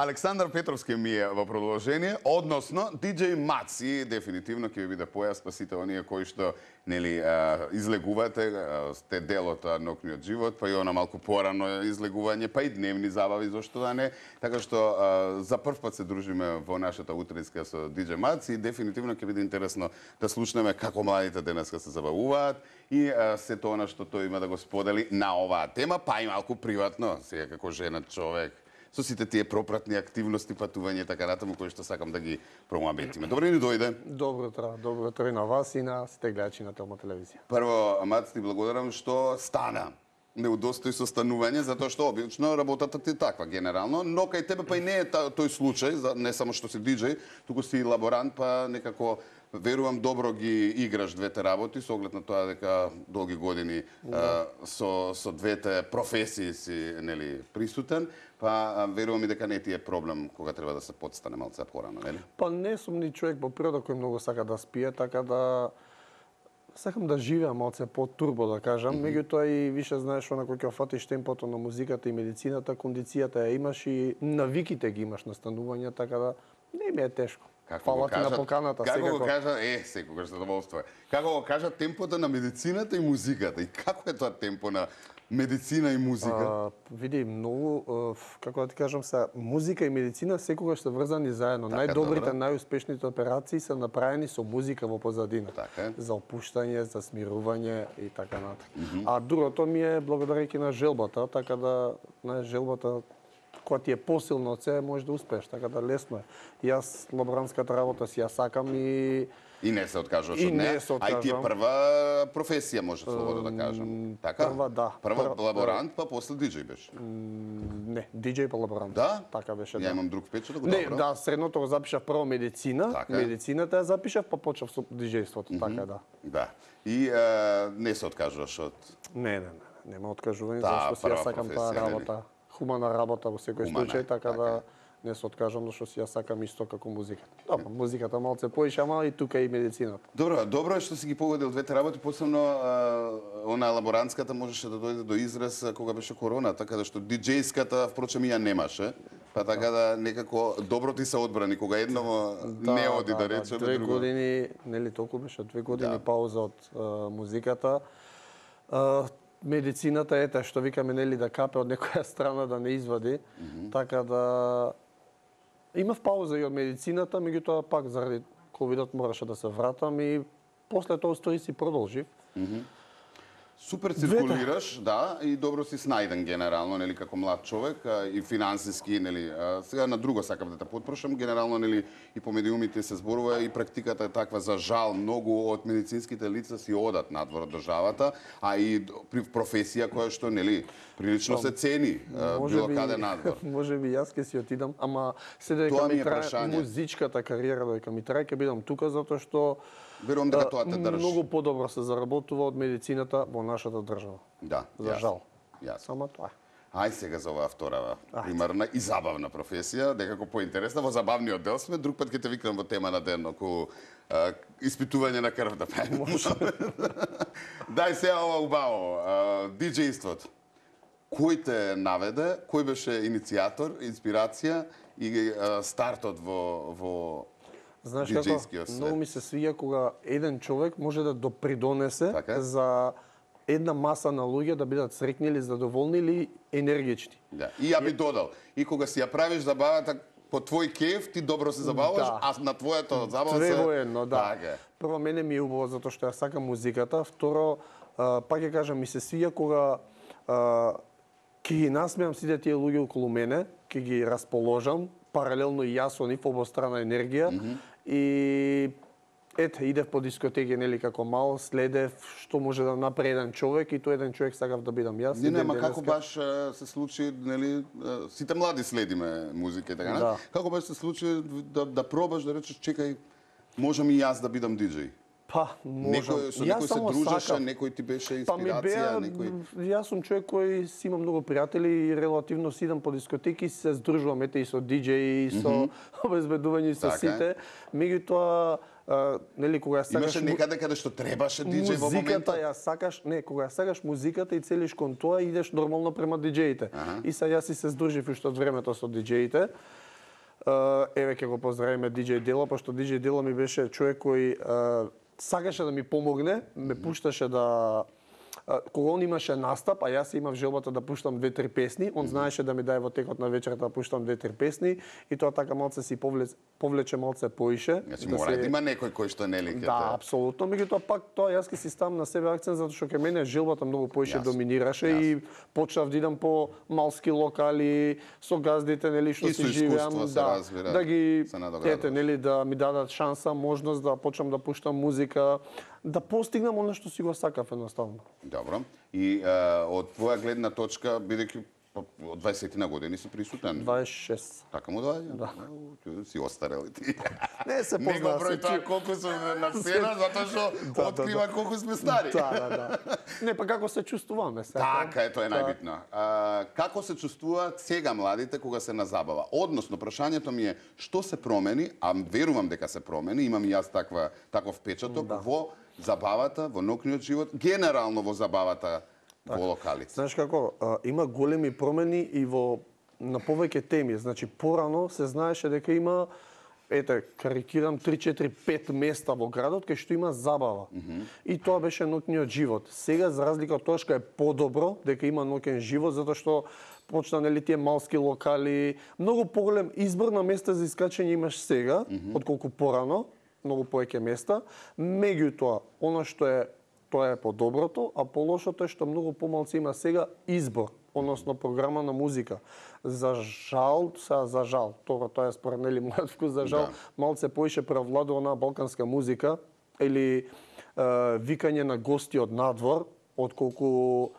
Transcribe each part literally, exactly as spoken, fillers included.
Александар Петровски ми е во продолжение, односно диџеј Мац, и дефинитивно ќе ви биде појасно сите оние кои што нели излегувате, сте дел од ноќниот живот, па и она малку порано излегување, па и дневни забави, зошто да не. Така што за прв пат се дружиме во нашата утринска со диџеј Мац и дефинитивно ќе биде интересно да слушнеме како младите денеска се забавуваат и сето она што тој има да го сподели на оваа тема, па и малку приватно, сега како женат човек, со сите тие пропратни активности, патување така натаму кои што сакам да ги промоабетиме. Добро ни дојде. Добро утро, добро утро и на вас и на сите гледачи на Телма телевизија. Прво, Мац, ти благодарам што стана. Не удостои со станување, затоа што обично работата ти е таква генерално, но кај тебе па и не е тој случај, не само што си диџеј, туку си лаборант, па некако верувам добро ги играш двете работи со оглед на тоа дека долги години да. со со двете професии си нели присутен, па верувам и дека не ти е проблем кога треба да се подстане малце порано, нели? Па не сум ни човек по природа кој многу сака да спие, така да сакам да живеам малце по-турбо, да кажам. Mm -hmm. Меѓутоа и више знаеш она кој ќе фатиш темпото на музиката и медицината, кондицијата ја имаш и навиките ги имаш на станување, така да не ми е тешко. Фала ти на поканата, како секако. Како го кажа, е, секогаш задоволство е. Како го кажа темпото на медицината и музиката? И како е тоа темпо на медицина и музика? А, види, многу, како да ти кажам се, музика и медицина секогаш се врзани заедно. Така, најдобрите, најуспешните операции се направени со музика во позадина. Така. За опуштање, за смирување и така натаму. Mm -hmm. А другото ми е благодарејќи на желбата, така да на желбата кога ти е посилно од себе, можеш да успееш, така да лесно е. Јас лаборантската работа си ја сакам и И не се откажуваш од неа. А и ти е прва професија, може слободно да кажам. Така? Прва, да. Прва прва, лаборант, па после диџеј беше. Не, диџеј па лаборант. Да? Така беше, Ја да. имам друг впечаток, Не, добро. да, средното го запишав прво медицина, така. Медицината ја запишав, па почнав со диџејството, mm -hmm. така да. Да. И а, не се откажуваш од... Не, не, не, нема откажување, Та, зашто си ја сакам таа работа. Хумана работа во секој случај, така, така да не се откажам, зашто си ја сакам исто како музиката. Добро, музиката малце поише, ама и тука и медицината. Добро, добро е што си ги погодил двете работи, посебно она лаборантската можеше да дојде до израз кога беше корона, така да што диџејската впрочем ја немаше. Па така да некако добро ти се одбрани кога едно да, не оди да, да речеме, две друго. години, нели толку беше, две години да. пауза од uh, музиката. Uh, медицината ете што викаме нели да капе од некоја страна да не извади, mm -hmm. така да имав пауза и од медицината, меѓутоа пак заради ковидот мораше да се вратам и после тоа стои си продолжив. Mm -hmm. Супер циркулираш, двете. Да, и добро си снајден генерално, нели, како млад човек, а, и финансиски, нели, а, сега на друго сакам да те потпрошам, генерално, нели, и по медиумите се зборува и практиката е таква, за жал, многу од медицинските лица си одат надвор од државата, а и при професија која што, нели, прилично се цени, а, било би, каде надвор. Може би јас ќе си отидам, ама се дека ми трае музичката кариера, дека ми трае, ќе бидам тука, затоа што верувам дека тоа те држи. Многу подобро се заработува од медицината во нашата држава. Да, за жал. Јас. Само тоа. Ај сега за оваа втора примарна и забавна професија, некако поинтересна, во забавниот дел сме, друг пат ќе те викнам во тема на ден околу а, испитување на крв да правиме. Дај сега ова убаво, диџејството. Кој те наведе, кој беше иницијатор, инспирација и а, стартот во во Знаеш како, многу ми се свија кога еден човек може да допридонесе така? За една маса на луѓе да бидат среќни или задоволни или енергични. Да. И ја би додал, и кога си ја правиш забавата по твој кеф, ти добро се забаваш, да. А на твоето забава се... Две во едно, да. Так, прво, мене ми е убаво затоа што ја сакам музиката. Второ, а, пак ја кажам, ми се свија кога а, ќе ги насмеам сите тие луѓе околу мене, ќе ги расположам, паралелно и јас со нив обострана енергија. Mm -hmm. И ете, идев по дискотеки, нели, како мал, следев што може да направи еден човек и тој еден човек сакав да бидам јас. Не, не, ма како баш се случи, нели, сите млади следиме музика и така, да. Како баш се случи да, да пробаш, да речеш, чекај, можам и јас да бидам диџеј? Па, можам. Некој, со некој се дружеше, некој ти беше инспирација, па ми беа, некој... Јас сум човек кој си има многу пријатели и релативно си идам по дискотеки и се здружувам, ете, и со диџеи, и со mm -hmm. обезбедување, и со така сите. Меѓутоа, нели, кога ја сакаш... Имаше некаде каде што требаше диџеј во моментот? Музиката ја сакаш, не, кога ја сакаш музиката и целиш кон тоа, идеш нормално према диџеите. И са јас и се здружив уште од времето со диџеите. Еве ќе го поздравиме диџеј Дело, пошто диџеј Дело ми беше човек кој сакаше да ми помогне, ме пушташе да кога он имаше настап, а јас имав желбата да пуштам две-три песни, он знаеше да ми даде во текот на вечерта да пуштам две-три песни и тоа така малце си повлече, повлече малце поише. Значи да мора се... да има некој кој што нели ќе Да, апсолутно, меѓутоа пак тоа јас ќе си ставам на себе акцент затоа што кај мене желбата многу поише Јас. доминираше Јас. и почнав да идам по малски локали со газдите, нели што И си со живеам, искуство се да, разбира, да ги се надоградуваш. ете, нели да ми дадат шанса, можност да почнам да пуштам музика, да постигнам она што си го сакав едноставно. Добро. И а, од твоја гледна точка, бидејќи па, од дваесет на години си присутен. дваесет и шест. Така му доаѓа? Да. Си остарел и ти. Не се Не го познава број се. тоа колку сум на сцена, затоа што да, открива да. колку сме стари. Да, да, да. Не, па како се чувствуваме сега? Така е, тоа е најбитно. А, како се чувствуваат сега младите кога се на забава? Односно, прашањето ми е што се промени, а верувам дека се промени, имам и јас таква таков впечаток Да. во забавата, во ноќниот живот, генерално во забавата во локалите. Знаеш како, а, има големи промени и во на повеќе теми. Значи порано се знаеше дека има ете, карикирам три четири пет места во градот кај што има забава. Mm -hmm. И тоа беше ноќниот живот. Сега за разлика од тоа што е подобро дека има ноќен живот затоа што почна нели тие малски локали, многу поголем избор на места за искачање имаш сега mm -hmm. отколку порано, многу повеќе места. Меѓутоа, она што е тоа е по-доброто, а по-лошото е што многу помалци има сега избор, односно програма на музика. За жал, са за жал, тоа тоа е според нели мојот вкус, за жал, Да. малце поише преовладува онаа балканска музика или е, викање на гости од надвор, отколку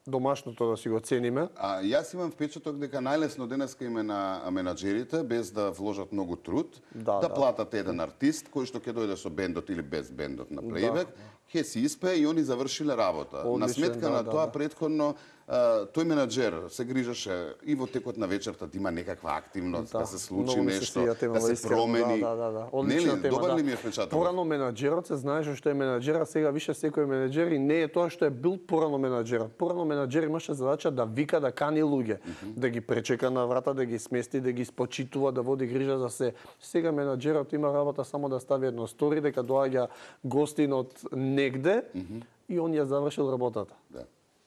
домашното да си го цениме. А јас имам впечаток дека најлесно денеска име на менаџерите без да вложат многу труд, Да, да, да. платат еден артист кој што ќе дојде со бендот или без бендот на плейбек, ќе си испее и они завршиле работа. на Одличен, сметка да, на да, тоа да. претходно а, тој менаџер се грижеше и во текот на вечерта да има некаква активност, да, Да, се случи многу ми се нешто, свија тема, да се искрено, промени. Да, да, да. Нели, Одлична тема, добар да. ли ми е впечаток? Порано менаџерот се знаеше што е менаџер, а сега више секој менаџер и не е тоа што е бил порано менаџерот. Порано менаџер имаше задача да вика, да кани луѓе, mm -hmm. да ги пречека на врата, да ги смести, да ги спочитува, да води грижа за се. Сега менаџерот има работа само да стави едно стори дека доаѓа гостин од негде mm -hmm. и он ја завршил работата. Да.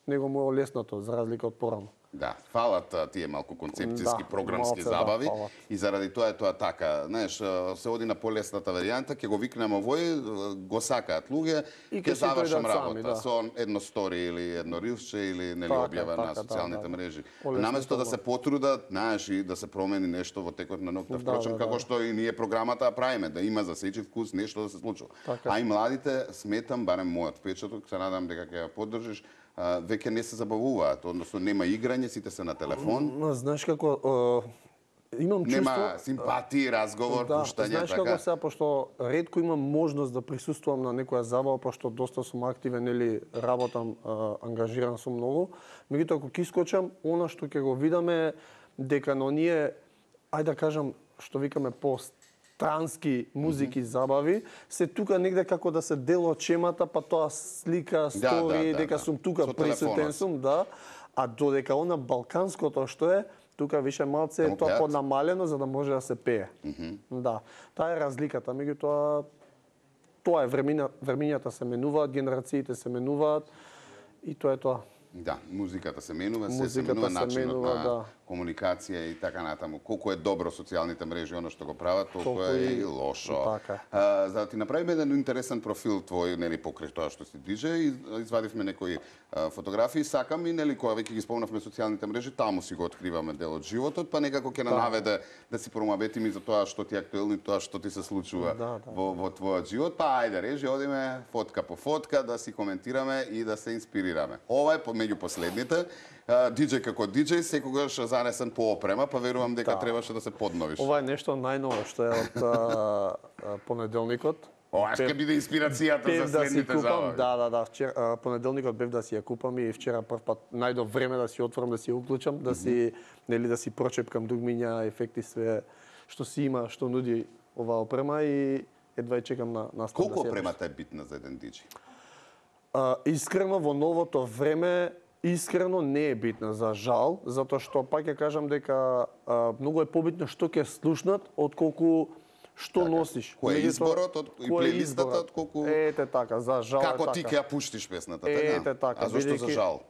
Него му е лесното за разлика од порано. Да, фалат а, тие малку концепцијски, Да, програмски малце, да, забави фалат. и заради тоа е тоа така. Знаеш, а, се оди на полесната варијанта, ќе го викнеме овој, а, го сакаат луѓе, И ќе ќе си завршам дојдат работа сами, да. со едно стори или едно рилсче или нели Така, објава на така, социјалните да, да. мрежи. Полесно Наместо да тоа. се потрудат, знаеш, и да се промени нешто во текот на ноќта, Да, впрочем, да, како да. што и ние програмата ја правиме, да има за сечи вкус нешто да се случува. Така. А и младите, сметам, барем мојот впечаток, се надам дека ќе ја поддржиш, а, веќе не се забавуваат, односно нема играње, сите се на телефон. Ма, знаеш како, е, имам чувство... Нема симпатии, разговор, Да, пуштање, знаеш така. како сега, пошто ретко имам можност да присуствувам на некоја забава, пошто доста сум активен или работам, а, ангажиран сум многу. Меѓутоа, ако ќе искочам, она што ќе го видаме дека на оние, ајде да кажам, што викаме по странски музики, забави, се тука негде како да се дел од чемата, па тоа слика, стори, да, дека да. сум тука Со присутен телефонот. сум, да. А додека она балканското што е, тука више малце Таму е тоа пеат? поднамалено за да може да се пее. Mm -hmm. Да, таа е разликата, меѓутоа тоа е времина, времињата се менуваат, генерациите се менуваат и тоа е тоа. Да, музиката се менува, се се Музиката менува се начинот менува, на да. комуникација и така натаму. Колку е добро социјалните мрежи, оно што го прават, толку Толку е и- и лошо. така е. А, за да ти направиме еден интересен профил твој, нели, покрај тоа што си диџеј, извадивме некои а, фотографии, сакам и, нели, кога веќе ги спомнавме социјалните мрежи, таму си го откриваме дел од животот, па некако ќе наведе да си промавети ми за тоа што ти е актуелно и тоа што ти се случува Да, да. во, во твојот живот. Па ајде, режи, одиме фотка по фотка да си коментираме и да се инспирираме. Ова е помеѓу последните. А, диџеј како диџеј, секогаш занесен по опрема, па верувам дека Да. требаше да се подновиш. Ова е нешто најново што е од а, а, понеделникот. Ова ќе биде инспирацијата Пев за да си следните купам, забави. да, да, да, вчера а, понеделникот бев да си ја купам и вчера прв пат најдов време да си отворам, да си ја уклучам, да си нели да си прочепкам дугмиња, ефекти, све што си има, што нуди оваа опрема и едва ја чекам на настап Колку да се ја опремата е битна за еден диџеј? А, искрено во новото време Искрено не е битна, за жал, затоа што пак ќе кажам дека а, многу е побитно што ќе слушнат отколку што Така. носиш. Кој е Меѓутоа, изборот од- и кој е плейлистата, изборот? отколку- Ете така, за жал Како е ти така. ќе ја пуштиш песната, така? Ете така, А зошто за бидејќи- жал?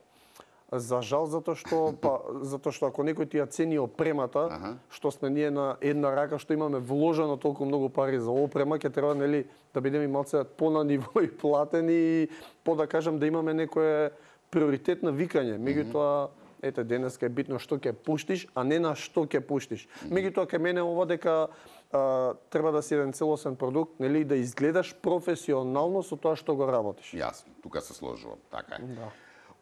За жал затоа што па затоа што ако некој ти ја цени опремата, Аха. што сме ние на една рака што имаме вложено толку многу пари за опрема, ќе треба нели да бидеме малце по на ниво и платени и по да кажам да имаме некое приоритет на викање. Меѓутоа ете денеска е битно што ќе пуштиш, а не на што ќе пуштиш. Меѓутоа кај мене ова дека а, треба да си еден целосен продукт, нели да изгледаш професионално со тоа што го работиш. Јасно, тука се сложувам, така е. Да.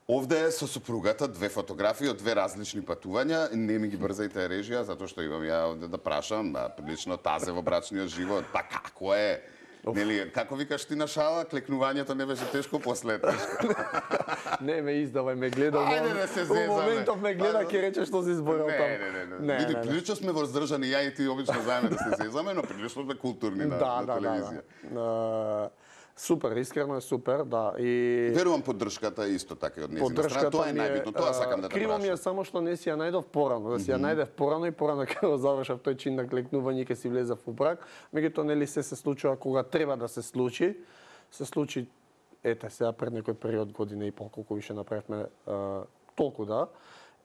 Овде е со супругата две фотографии од две различни патувања. Не ми ги брзајте режија, затоа што имам ја овде да прашам, а, прилично тазе во брачниот живот. Па како е? Нели, како викаш ти на шала, клекнувањето не беше тешко, после тешко. Не ме издавај, ме гледа. Ајде да се зезаме. У моментов ме гледа, ќе рече што си зборил Не, таму. не, не, не. Не, Види, не, не. прилично сме воздржани, ја и ти обично знаеме да се зезаме, но прилично сме културни на, Да, на да, телевизија. да, да. Супер, искрено е супер, да. И Верувам поддршката исто така и од нејзина страна. Тоа е ми најбитно, тоа сакам да те Криво ми е прашам. само што не си ја најдов порано, да си ја најдев порано и порано кога го завршав тој чин на клекнување и ќе си влезав во брак. Меѓутоа нели се се случува кога треба да се случи. Се случи ете сега пред некој период година и пол колку више направивме а, толку да.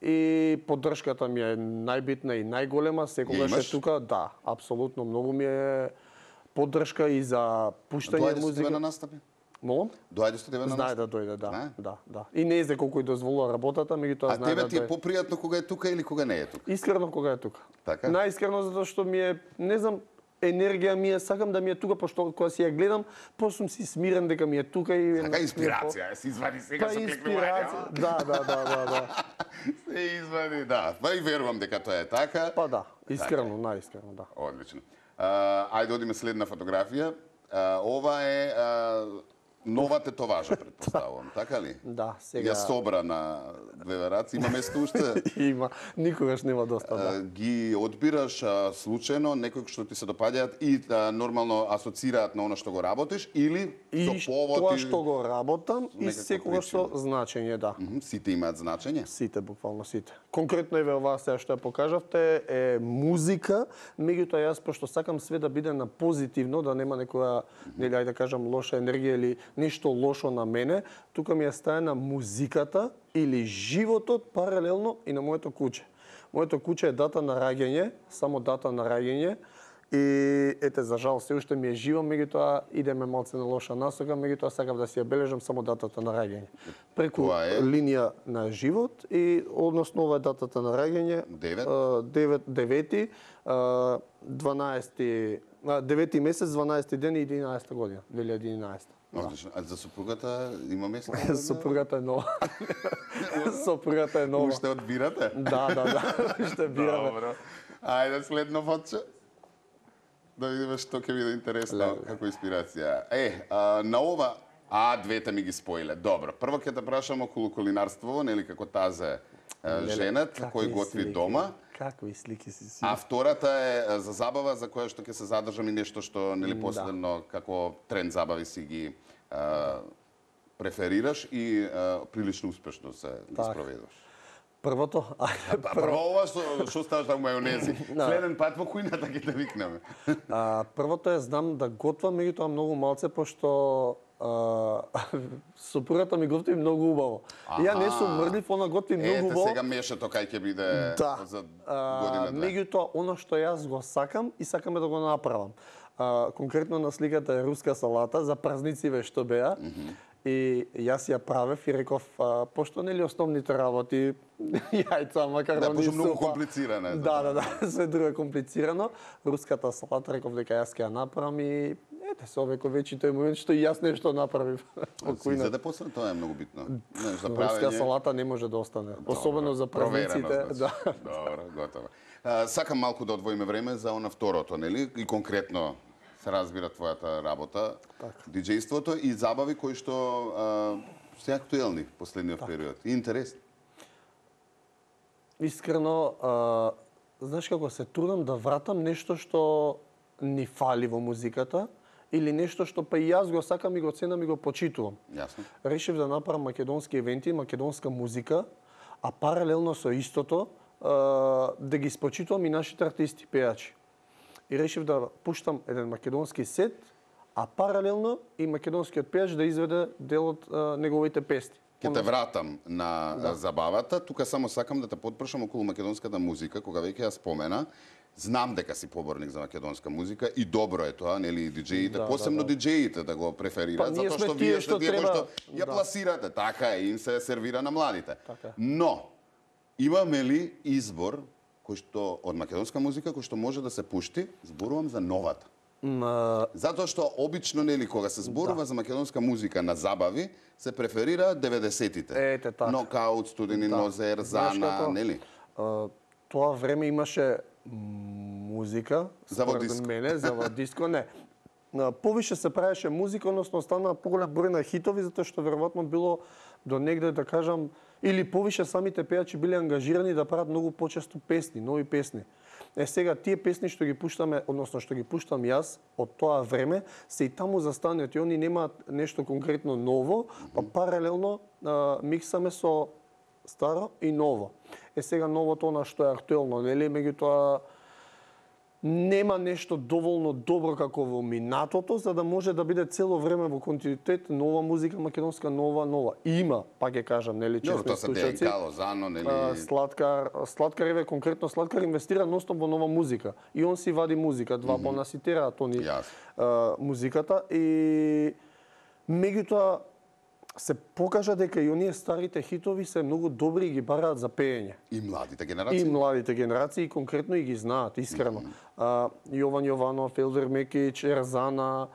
И поддршката ми е најбитна и најголема, секогаш Ја имаш? е тука, да, апсолутно многу ми е поддршка и за пуштање Доаѓа со тебе музика. на настапи? Молам? Доаѓа со тебе на Знае настапи? да дојде, да, Знае? да, да. И не знае колку и дозволува работата, меѓутоа А знае тебе да ти е дојде. попријатно кога е тука или кога не е тука? Искрено кога е тука. Така? Најискрено затоа што ми е, не знам, енергија ми е, сакам да ми е тука, пошто кога си ја гледам, после сум си смирен дека ми е тука и Така инспирација, е, се извади сега Па со инспирација. клекнување. Да, да, да, да, да. Се извади, да. Па и верувам дека тоа е така. Па да, искрено, најискрено, да. Одлично. А, ајде одиме следна фотографија. А, ова е а, нова тетоважа, предпоставувам, така ли? Да, сега Ја собра на две раци, има место уште. има, никогаш нема доста, да. А, ги одбираш а, случајно некој што ти се допаѓаат и а, нормално асоцираат на она што го работиш или И со повод тоа и- што го работам и некаква секогаш со причина. значење, да. Мгм, сите имаат значење. Сите, буквално сите. Конкретно еве ова сега што ја покажавте е музика, меѓутоа јас пошто сакам све да биде на позитивно, да нема некоја, нели ајде да кажам лоша енергија или нешто лошо на мене, тука ми е стаена музиката или животот паралелно и на моето куќе. Моето куќе е дата на раѓање, само дата на раѓање. И ете, за жал, се уште ми е живо, меѓутоа идеме малце на лоша насока, меѓутоа сакам да си ја бележам само датата на раѓање. Преку Тоа е? линија на живот и односно ова е датата на раѓање. Девет? а, девет девети, а, дванаесети, а, девети месец, дванаесети ден и единаесета година, две илјади и единаесета. Одлично. А за супругата има место? Сопругата е нова. Сопругата е нова. Уште одбирате? Да, да, да, ще бираме. Добро. Ајде следно фотче. Да видиме што ќе биде интересно Леле. како инспирација. Е, а, на ова а двете ми ги споиле. Добро. Прво ќе те прашам околу кулинарство, нели како тазе е, женет кој Какви готви слики, дома. Какви слики си си. А втората е за забава за која што ќе се задржам и нешто што нели последно како тренд забави си ги а, преферираш и а, прилично успешно се ги Так. спроведуваш. Првото, ајде, Па прво ова што што ставаш на мајонези. Да. Следен пат во кујната ќе те викнеме. А, првото е знам да готвам, меѓутоа многу малце, пошто а, сопругата ми готви многу убаво. И ја не сум мрдлив, она готви многу Ете убаво. сега мешето кај ќе биде Да. за А, година две. меѓутоа, она што јас го сакам и сакаме да го направам. А, конкретно на сликата е руска салата за празнициве што беа. И јас ја правев и реков, а, пошто нели основните работи, јајца, макарони, Да, пошто многу супа. комплицирано е. Да, да, да, све друго е комплицирано. Руската салата реков дека јас ќе ја направам и ете се овеќе вече тој момент што и јас нешто направив. Во Си кујната. заде после тоа е многу битно. Знаеш, за Руска правење. салата не може да остане, особено за Проверено, празниците. значи. Да. Добро, готово. А, сакам малку да одвоиме време за она второто, нели? И конкретно се разбира твојата работа, диџејството и забави кои што а, се актуелни последниот период. И интересни. Искрено, а, знаеш како се трудам да вратам нешто што ни фали во музиката или нешто што па и јас го сакам и го ценам и го почитувам. Јасно. Решив да направам македонски евенти, македонска музика, а паралелно со истото да ги спочитувам и нашите артисти, пејачи. И решив да пуштам еден македонски сет, а паралелно и македонскиот пејач да изведе дел од неговите песни. Ке те вратам на Да. забавата, тука само сакам да те потпрашам околу македонската музика, кога веќе ја спомена. Знам дека си поборник за македонска музика и добро е тоа, нели, и диџеите, Да, посебно да, да. диџеите да го преферираат, Па, ние затоа сме што тие вие што сте тие кои треба- што ја да. пласирате, така е, им се сервира на младите. Така е. Но имаме ли избор кој што од македонска музика кој што може да се пушти? Зборувам за новата. М, Затоа што обично, нели, кога се зборува Да. за македонска музика на забави, се преферира деветдесетите. Ете, така. Нокаут, Студени Да. нозер, Знаеш Зана, како? нели? а, тоа време имаше музика, За во според диско. мене, за во диско, не. На повише се правеше музика, односно остана поголем број на хитови, затоа што веројатно било до негде, да кажам, или повише самите пејачи биле ангажирани да прават многу почесто песни, нови песни. Е, сега, тие песни што ги пуштаме, односно што ги пуштам јас од тоа време, се и таму застанети. Они немаат нешто конкретно ново, па паралелно а, миксаме со старо и ново. Е, сега новото на што е актуелно, нели, меѓутоа нема нешто доволно добро како во минатото, за да може да биде цело време во континуитет нова музика, македонска нова, нова. Има, пак ќе кажам, нели, Добро, честни тоа се слушаци. Дејан Лозано, нели? А, Сладкар, Сладкар еве конкретно Сладкар инвестира ностоп во нова музика. И он си вади музика, два mm -hmm. понаситираат они Јасно. а, музиката и меѓутоа се покажа дека и оние старите хитови се многу добри и ги бараат за пеење. И младите И генерации. младите генерации конкретно и ги знаат, искрено. Mm -hmm. а, Јован Јованов, Елдер Мекич, Ерзана,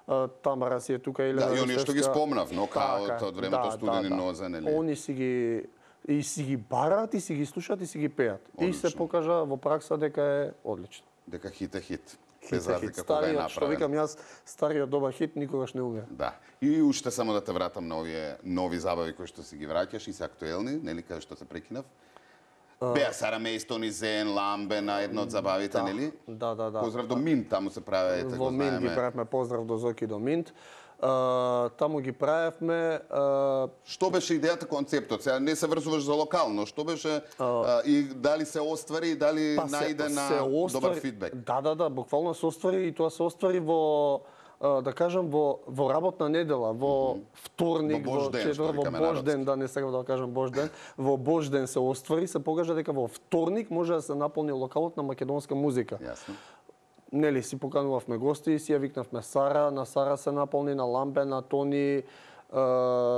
а, Тамара си е тука, Елена Да, и оние што ги Ростевска. спомнав, Нокаут, Така, од времето да, Студени да, да. нозе, нели? Они си ги и си ги бараат, и си ги слушаат, и си ги пеат. И се Одлично. покажа во пракса дека е одлично. Дека хит е хит. Хит Без е хит. разлика кога е Стариот, што направен. викам јас, стариот добар хит никогаш не умре. Да. И уште само да те вратам на овие нови забави кои што си ги враќаш и се актуелни, нели, каде што се прекинав. Беа Сара Мејстони, Зен, Ламбе на едно од забавите, Да, нели? да, да, да. Поздрав до Минт, таму се праве, Во го Минт ги знаеме. правевме поздрав до Зоки до Минт. А, таму ги правевме а, Што беше идејата, концептот? Сега не се врзуваш за локално, што беше а, и дали се оствари и дали па се- најде на се оствари- добар фидбек? Да, да, да, буквално се оствари и тоа се оствари во а, да кажам во во работна недела, во вторник, Во Божј во ден, четвр, што во викаме Божј народски. ден, да не сакам да кажам Божј ден, во Божј ден се оствари, се покажа дека во вторник може да се наполни локалот на македонска музика. Јасно. Нели, си поканувавме гости, си ја викнавме Сара, на Сара се наполни, на Ламбе, на Тони, Uh,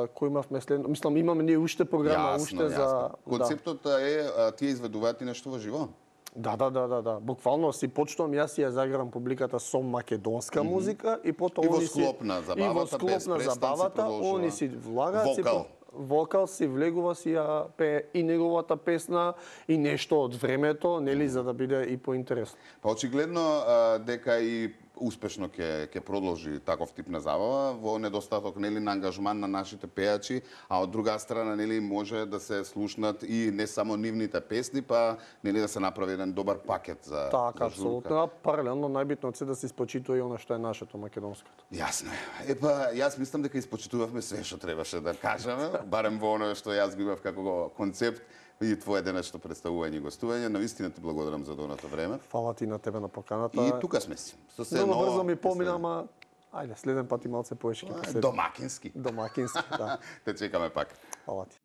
кој имавме следно, мислам имаме ние уште програма, Јасно, уште за јасно. Концептот е а, тие изведуваат и нешто во живо. Да, да, да, да, да. Буквално си почнувам, јас си ја заграм публиката со македонска mm -hmm. музика и потоа И во они си склоп на забавата, и во склоп без на престан си забавата, продолжува. они си влагаат си Вокал. по- вокал си влегува си ја пее и неговата песна и нешто од времето, нели, за да биде и поинтересно. Па очигледно а, дека и успешно ќе ќе продолжи таков тип на забава во недостаток, нели, на ангажман на нашите пејачи, а од друга страна, нели, може да се слушнат и не само нивните песни, па нели да се направи еден добар пакет за Така, за апсолутно. журка. А паралелно најбитно е да се испочитува и она што е нашето македонското. Јасно е. Епа, јас мислам дека испочитувавме све што требаше да кажеме, барем во оно што јас го имав како го концепт и твое денешно представување и гостување. Навистина ти благодарам за доното време. Фала ти на тебе на поканата. И тука сме си. Со се Многу ново, брзо ми и помина, се- ама ајде, следен пат и малце повеќе ќе А, поседи. Домакински. Домакински, да. Те чекаме пак. Фала ти.